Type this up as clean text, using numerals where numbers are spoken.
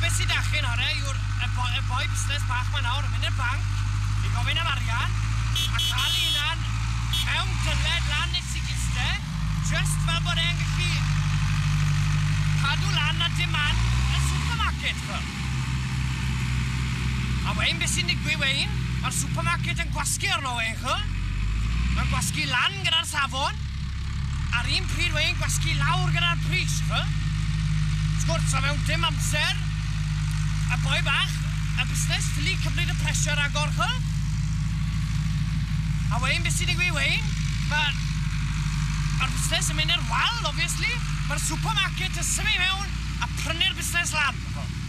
beth sy'n dachyn hwnna yw'r y boi, y boi busnes bach ma nawr yn mynd i'r banc i gofyn am arian a cael ei hunan mewn dyled lan nes i giste, just fel bod e'n gallu cadw lan a demand y supermarket, ch'o. A wein, beth sy'n digwydd wein, mae'r supermarket yn gwasgu arno wein, ch'o. Mae'n gwasgu lan gyda'r safon, a'r un pryd wein gwasgu lawr gyda'r pris, ch'o. Sgwrs, a mewn dim amser, y boi bach, y busnes ffili cymryd y pressure agor, ch'o. A wein, beth sy'n digwydd wein, mae'r ma busnes yn mynd i'r wal, obviously. Mae'r supermarket yn symud mewn a prynu'r busnes lan. Ch'o.